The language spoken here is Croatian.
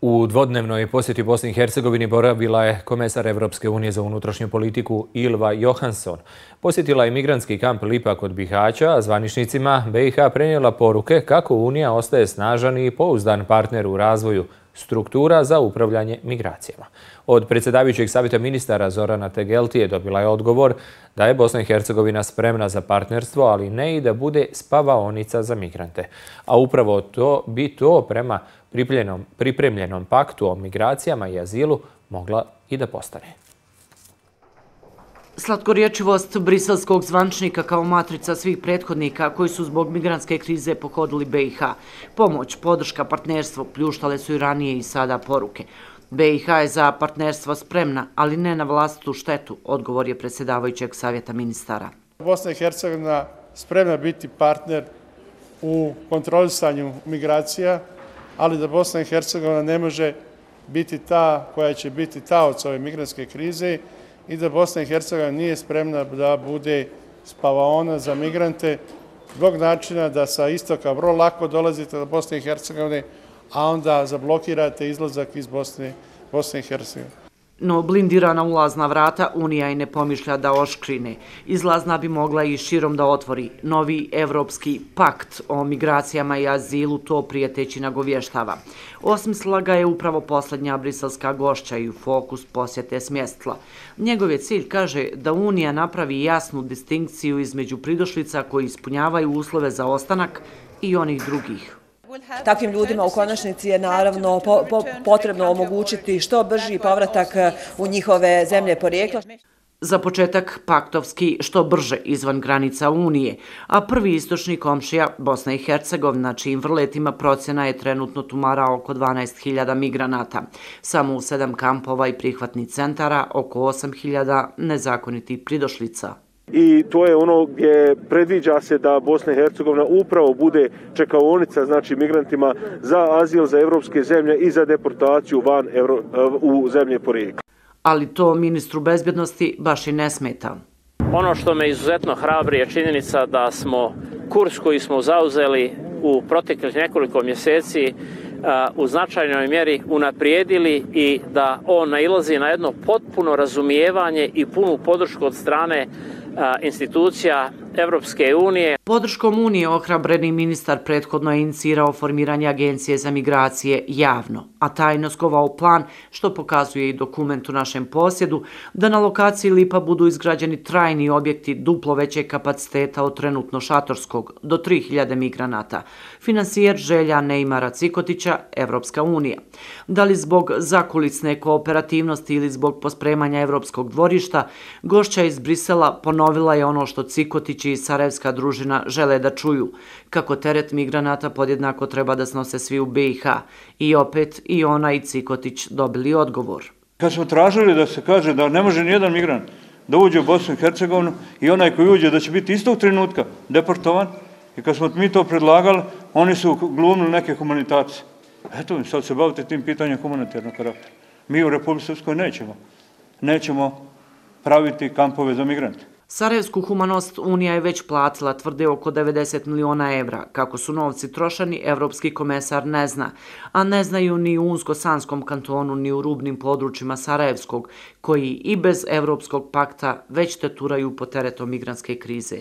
U dvodnevnoj posjeti Bosni i Hercegovini boravila je komesar Evropske unije za unutrašnju politiku Ylva Johansson. Posjetila je migrantski kamp Lipa kod Bihaća, a zvaničnicima BiH prenijela poruke kako Unija ostaje snažan i pouzdan partner u razvoju struktura za upravljanje migracijama. Od predsjedavajućeg savjeta ministara Zorana Tegeltije dobila je odgovor da je Bosna i Hercegovina spremna za partnerstvo, ali ne i da bude spavaonica za migrante. A upravo to bi prema pripremljenom paktu o migracijama i azilu mogla i da postane. Slatkorječivost briselskog zvaničnika kao matrica svih prethodnika koji su zbog migrantske krize pohodili BiH. Pomoć, podrška, partnerstvo pljuštale su i ranije i sada poruke. BiH je za partnerstvo spremna, ali ne na vlastitu štetu, odgovor je predsjedavajućeg savjeta ministara. Bosna i Hercegovina spremna biti partner u kontrolisanju migracija, ali da Bosna i Hercegovina ne može biti ta koja će biti taoc ove migrantske krize i da Bosna i Hercegovina nije spremna da bude spavaona za migrante zbog načina da sa istoka vrlo lako dolazite do Bosne i Hercegovine, a onda zablokirate izlazak iz Bosne i Hercegovine. No blindirana ulazna vrata Unija i ne pomišlja da oškrine. Izlazna bi mogla i širom da otvori. Novi evropski pakt o migracijama i azilu to prijeteći nagovještava. Osmislila ga je upravo posljednja briselska gošća i u fokus posjete smjestila. Njegov je cilj, kaže, da Unija napravi jasnu distinkciju između pridošlica koji ispunjavaju uslove za ostanak i onih drugih. Takvim ljudima u konačnici je naravno potrebno omogućiti što brži povratak u njihove zemlje porijekla. Za početak paktovski što brže izvan granica Unije, a prvi istočni komšija Bosna i Hercegovina, čijim vrletima procjena je trenutno tumara oko 12.000 migranata. Samo u 7 kampova i prihvatnih centara oko 8.000 nezakonitih pridošlica. I to je ono gdje predviđa se da Bosna i Hercegovina upravo bude čekaonica, znači migrantima za azil, za evropske zemlje i za deportaciju u zemlje porijekla. Ali to ministru bezbjednosti baš i ne smeta. Ono što me izuzetno hrabri je činjenica da smo kurs koji smo zauzeli u proteklih nekoliko mjeseci u značajnoj mjeri unaprijedili i da on nailazi na jedno potpuno razumijevanje i punu podršku od strane institucija Evropske unije. Podrškom Unije ohrabreni ministar prethodno je inicirao formiranje Agencije za migracije javno, a tajno skovao plan, što pokazuje i dokument u našem posjedu, da na lokaciji Lipa budu izgrađeni trajni objekti duplo većeg kapaciteta od trenutno šatorskog, do 3.000 migranata. Finansijer želja Neimara Cikotića, Evropska unija. Da li zbog zakulisne kooperativnosti ili zbog pospremanja Evropskog dvorišta, gošća iz Brisela ponovila je ono što Cikotić i sarajevska družina žele da čuju, kako teret migranata podjednako treba da snose svi u BiH. I opet i ona i Cikotić dobili odgovor. Kad smo tražili da se kaže da ne može nijedan migrant da uđe u Bosnu i Hercegovinu i onaj koji uđe da će biti istog trenutka deportovan, i kad smo mi to predlagali, oni su glumili neke humanitacije. Eto, sad se bavite tim pitanjem humanitarnog karaktera. Mi u Republici Srpskoj nećemo praviti kampove za migrante. Sarajevsku humanost Unija je već platila, tvrde, oko 90 miliona evra. Kako su novci trošani, evropski komesar ne zna. A ne znaju ni u Unsko-Sanskom kantonu, ni u rubnim područjima Sarajevskog, koji i bez Evropskog pakta već teturaju pod teretom migrantske krize.